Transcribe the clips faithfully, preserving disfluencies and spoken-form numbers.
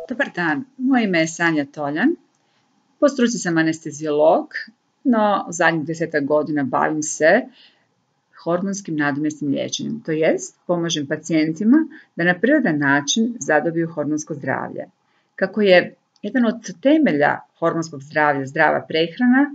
Dobar dan, moje ime je Sanja Toljan. Po struci sam anesteziolog, no u zadnjih desetak godina bavim se hormonskim nadomjesnim liječenjem, to jest pomažem pacijentima da na prirodan način zadobiju hormonsko zdravlje. Kako je jedan od temelja hormonskog zdravlja zdrava prehrana,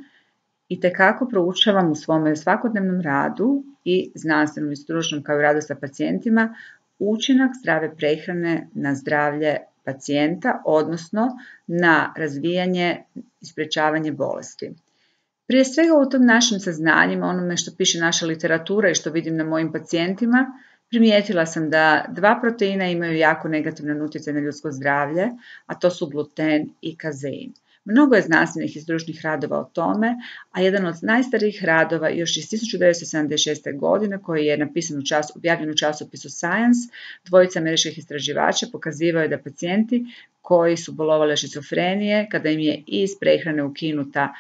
itekako proučavam u svome svakodnevnom radu i znanstvenom i stručnom kao i radu sa pacijentima učinak zdrave prehrane na zdravlje pacijenta, odnosno na razvijanje i sprječavanje bolesti. Prije svega u tom našim saznanjima, onome što piše naša literatura i što vidim na mojim pacijentima, primijetila sam da dva proteina imaju jako negativan utjecaj na ljudsko zdravlje, a to su gluten i kazein. Mnogo je znanstvenih i stručnih radova o tome, a jedan od najstarijih radova još iz tisuću devetsto sedamdeset šeste. godine koji je napisan u čas, objavljen u časopisu Science, dvojica američkih istraživača pokazivaju da pacijenti koji su bolovali od šizofrenije, kada im je iz prehrane ukinuta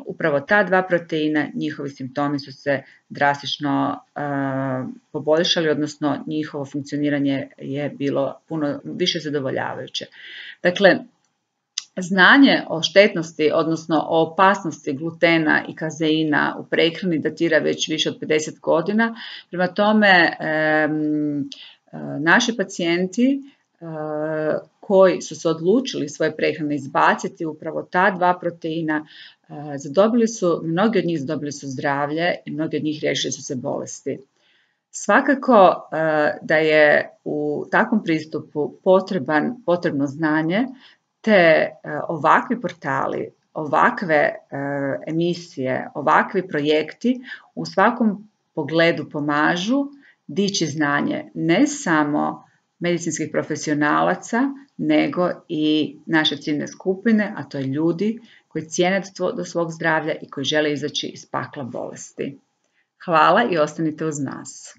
upravo ta dva proteina, njihovi simptomi su se drastično uh, poboljšali, odnosno njihovo funkcioniranje je bilo puno više zadovoljavajuće. Dakle, znanje o štetnosti, odnosno o opasnosti glutena i kazeina u prehrani datira već više od pedeset godina. Prema tome, um, naši pacijenti uh, koji su se odlučili svoje prehrane izbaciti upravo ta dva proteina, zadobili su, mnogi od njih zadobili su zdravlje i mnogi od njih riješili su se bolesti. Svakako da je u takvom pristupu potreban, potrebno znanje, te ovakvi portali, ovakve emisije, ovakvi projekti u svakom pogledu pomažu dići znanje ne samo medicinskih profesionalaca, nego i naše ciljne skupine, a to je ljudi koji cijene do svog zdravlja i koji žele izaći iz pakla bolesti. Hvala i ostanite uz nas.